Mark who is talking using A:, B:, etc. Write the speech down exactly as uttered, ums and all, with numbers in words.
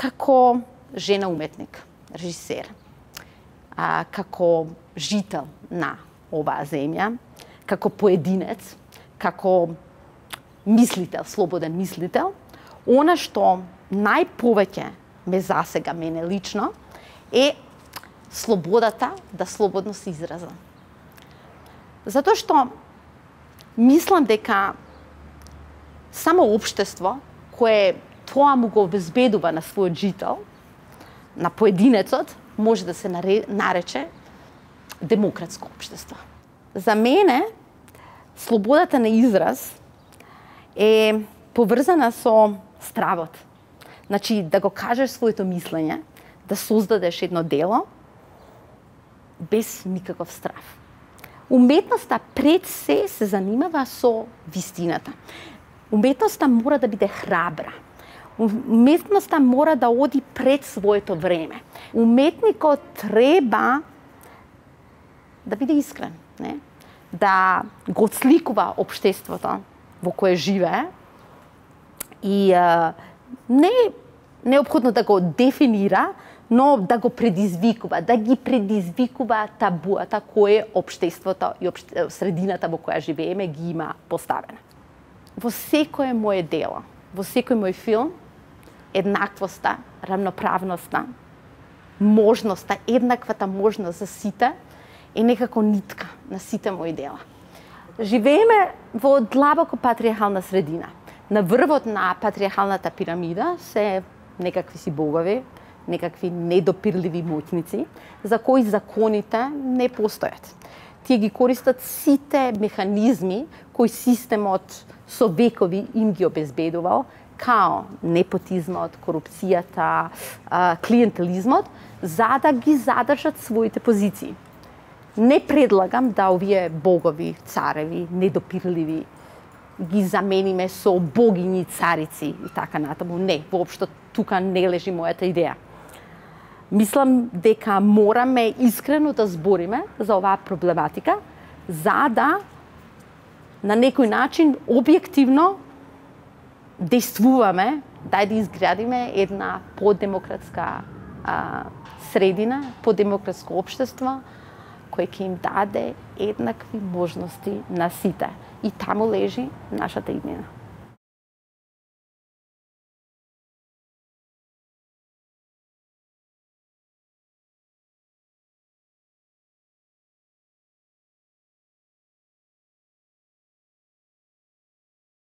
A: како жена уметник, режисер, а, како жител на оваа земја, како поединец, како мислител, слободен мислител, она што најповеќе ме засега мене лично е слободата да слободно се изразам. Затоа што мислам дека само општество кое тоа му го обезбедува на својот жител, на поединецот, може да се нарече демократско општество. За мене, слободата на израз е поврзана со стравот. Значи, да го кажеш своето мислење, да создадеш едно дело без никаков страв. Уметноста пред се се занимава со вистината. Уметноста мора да биде храбра. Уметноста мора да оди пред своето време. Уметникот треба да биде искрен, не? Да го отсликува општеството во кое живее и а, не е неопходно да го дефинира, но да го предизвикува, да ги предизвикува табуата кое општеството и обще... средината во која живееме ги има поставена. Во секое моје дело, во секој мој филм, еднаквоста, рамноправноста, можноста, еднаквата можност за сите е некако нитка на сите мои дела. Живееме во длабоко патриархална средина. На врвот на патриархалната пирамида се некакви си богови, некакви недопирливи моќници, за кои законите не постојат. Тие ги користат сите механизми кои системот со векови им ги обезбедувал, као непотизмот, корупцијата, клиентелизмот, за да ги задржат своите позиции. Не предлагам да овие богови, цареви, недопирливи, ги замениме со богини, царици и така натаму. Не, воопшто тука не лежи мојата идеја. Мислам дека мораме искрено да збориме за оваа проблематика, за да на некој начин објективно действуваме да да изградиме една подемократска а, средина, подемократско општество, кој ќе им даде еднакви можности на сите. И таму лежи нашата иднина.